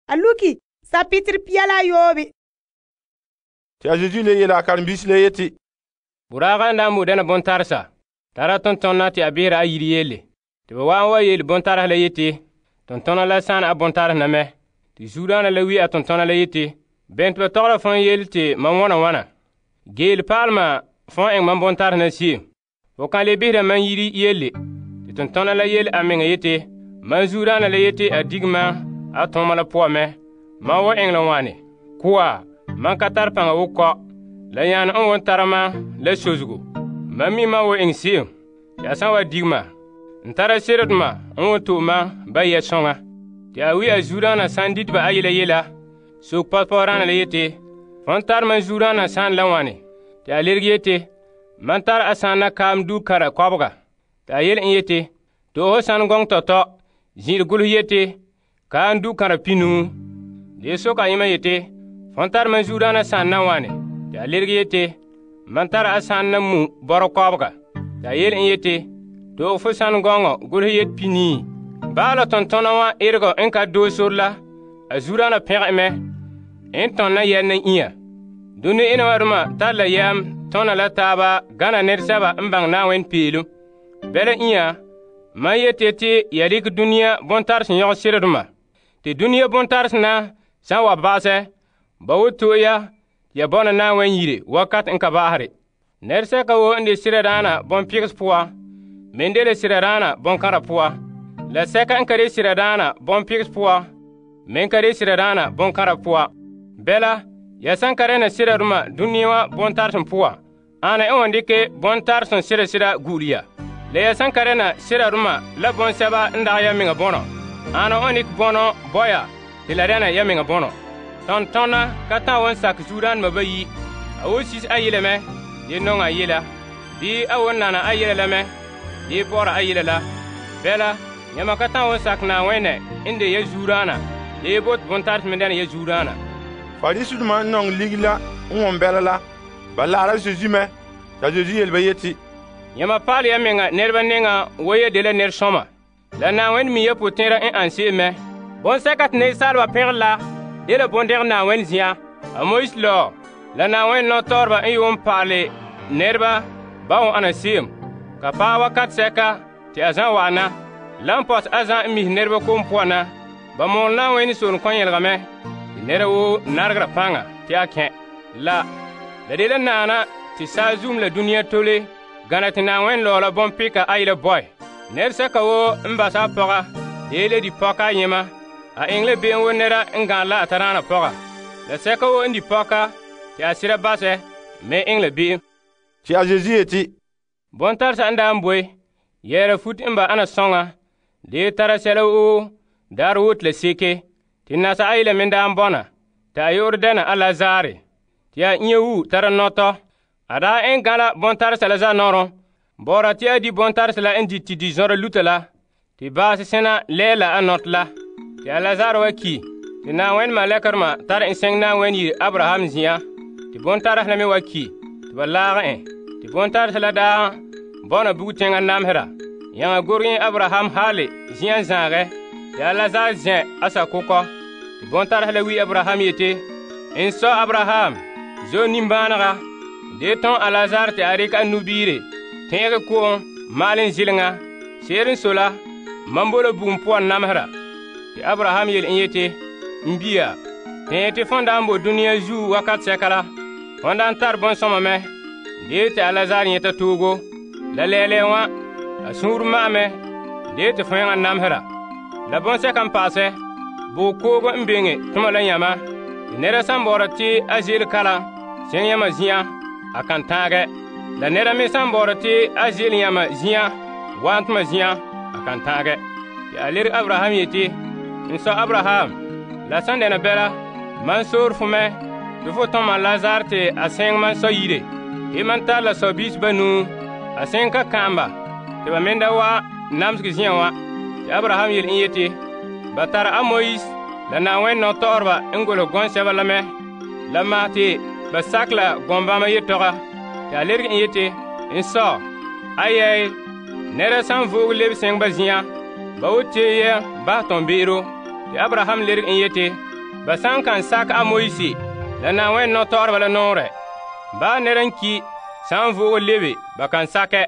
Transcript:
A luki sapitiri pia la yoobe. Te a Yesu le yele a karen-biisi le yeti, Buraaga n daa mo dɛna bontaresa, tara tontona te a behera a yire yele. Te ba wa'an wa yele bontaresa la yeti, tontona la saan a bontaresa na mɛ. Te zuodaana la wi a tontona la yeti, bene te ba tɔgɔra fon yele te mam wana wana? Geele paalema fon eŋɛ mam bontaresa na se'em. Fo kan le behera mam yire yele. Te tontona la yele a meŋa yeti, mam zuodaana la yeti a dige mam a tooma la poan mɛ. Mam wan eŋɛ la wane? Koa, mam ka tare paŋa wo kɔ. La yaane n won tara mam la sozego. Mam mi mam wan eŋɛ se'em. Te a san wa dige ma, n tara seredoma n won to'e mam ba yɛ soŋa. Te a wi a zuodaana san dite ba a yela yela, soke pɔgɔpɔgɔdaana la yeti, fon tare mam zuodaana saan la wane? Te a leregɛ yeti, mam tare a saana kaam dukara kɔbega. Te a yele en yeti, to'ohe san gɔŋɔ tɔtɔ, zin'ire golehɛ yeti, kaam dukara pinuŋu. De soka ayema yeti, fon tare mam zuodaana saan na wane? Te a leregɛ yeti, mam tare a saan na mu bɔrɔ kɔbega. Te a yele en yeti, to'ohe fo san gɔŋɔ golehɛ yeti pinii. Bala tontona wa erego n ka doo sor la, a zuodaana pɛgɛ mɛ, n tɔnna yɛl na inya. Done ena wa doma tare la yɛm tɔna la taaba gana nɛresɛba n baŋɛ Na'ayenɛ peelom. Bɛla inya, mam yeti te ya dekɛ dunia bontarese yɔgɛ seredoma. Te dunia bontarese na san wa ba'asɛ, ba wo to'e ya te ya bɔna Na'ayenɛ yire wakat n ka ba'asere. Nɛresɛka woo n de seradaana bonpegese poan, me de la seradaana bonkãra poan. La sɛka n ka de seradaana bonpegese poan, me ka de seradaana bonkãra poan. Bɛla, ya san ka dɛna seradoma dunia wa bontaresen poan, ana n wan dikɛ bontaresen sera gu'ule ya. La ya san ka dɛna seradoma la bonsɛba n dagɛ ya meŋa bɔnɔ, ana wan dikɛ bɔnɔ bɔya te la dɛna ya meŋa bɔnɔ. Tontona ka ta'an wan sakɛ zuodaanema bayi, a wo sis a yele mɛ, de nɔŋɛ a yela, bii a won nana a yela la mɛ, de bɔra a yela la. Bɛla, yãma ka ta'an wan sakɛ Na'ayenɛ n de ya zuodaana, de bote bontarese me dɛna ya zuodaana. Farisidoma n nɔŋɛ ligi la n wɔn bɛla la, ba la'ara Zesu mɛ. Ta Zesu yele ba yeti, yãma paale ya meŋa nɛreba neŋa wo ya de la nɛresɔma. La Na'ayenɛ mi ya potɛn'ɛra n an se'em mɛ. Bonsɛka te nɛresaaleba pɛngɛ la de la bondɛgɛ Na'ayenɛ zen'an. A Moise lɔ, la Na'ayenɛ nɔtɔɔreba n yuun pa'ale nɛreba ba wan ana se'em. Ka paɛ wakat sɛka te a zan wa'ana, la n pɔtɛ a zan n mihɛ nɛreba kom poan na, ba mɔɔlɛ Na'ayenɛ soolem kɔn-yɛlega mɛ, te nɛra woo naregera paŋa te a kɛ'. La de la naana te saazuum la dunia tole gana te Na'ayenɛ lɔɔla bompeka a yela bɔ'ɛ. Nɛresɛka woo n basa a pɔga de la di pɔka ayema, a eŋɛ la be'em wo nɛra n gane la a tadaana pɔga. La sɛka woo n di pɔka te a sera basɛ me eŋɛ la be'em. Te a Zesu yeti, bontaresa n daa n boe, yɛɛra fut n ba ana sɔŋa, de tara sɛla woo daarɛ woo te la seke. Te nasa a yela me daa n bɔna, te a yo'ore dɛna a Lazare, te a inya wu tara nɔtɔ. A daa eŋɛ gãla bontaresa la zanɔrɔ, bɔɔra te a di bontaresa la n di te di zɔrɔ luta la, te baase sẽna lɛɛla a nɔtɔ la. Te a Lazare wa ki, te Na'ayenɛ malɛkɛrema tare en sɛŋ Na'ayenɛ yire Abraham zin'an, te bontaresa la me wa ki, te ba laagɛ en. Te bontaresa la daa bɔna bugteŋa namsera, yãŋa gorgẽ Abraham haale zin'an zãagɛ, te a Lazare zɛ a sakokɔ. Te bontaresa la wi Abraham yeti, n sɔ Abraham, zo nimbãanega, de tõn a Lazare te a reka a nubiire tẽege ko'om maalem zileŋa. Seer n so la, mam bo la bugum poan namsera. Te Abraham yele en yeti, n bia, tẽ te fõn daa n bo dunia zuo wakat sɛka la, fõn daa n tare bõn-sõma mɛ, de te a Lazare yẽta toogo. La lɛɛlɛɛ wã, a sũur ma'amɛ, de te fõ yãŋa namsera. La bõn-sɛka n pa'asɛ, bugum koogo n beŋe tʋma la yãma, te nɛra san bɔɔra te a zeele kalam sẽn yãmã zĩ'an, a kan tãagɛ. La nɛra me san bɔɔra te a zeele yãmã zĩ'an wa n tʋma zĩ'an, a kan tãagɛ. Te a lerg Abraham yeti, n sɔ Abraham, la san dɛna bɛla, man soor fo mɛ, tɩ fo tõm mam Lazare te a sẽng man sɔ yire, tɩ man tar la sɔ-biis banuu, a sẽng ka kãamba, tɩ ba me da wa namsg zĩ'an wã. Tɩ Abraham yel n yeti, ba tara a Moise la Na'ayenɛ nɔtɔɔreba n golsɛ gɔnsɛba la mɛ, la maa te ba sak la gɔmbãmba yetɔga. Tɩ a lerg n yeti, n sɔ, ayɛɛ, nɛra san voog leb sẽng ba zĩ'an, ba wo tee yɛ basɛ tõn be'ero. Tɩ Abraham lerg n yeti, ba san kan sakɛ a Moise la Na'ayenɛ nɔtɔgɔreba la nɔɔrɛ, baa nɛra n ki' san vo'ogo lebe ba kan sakɛ.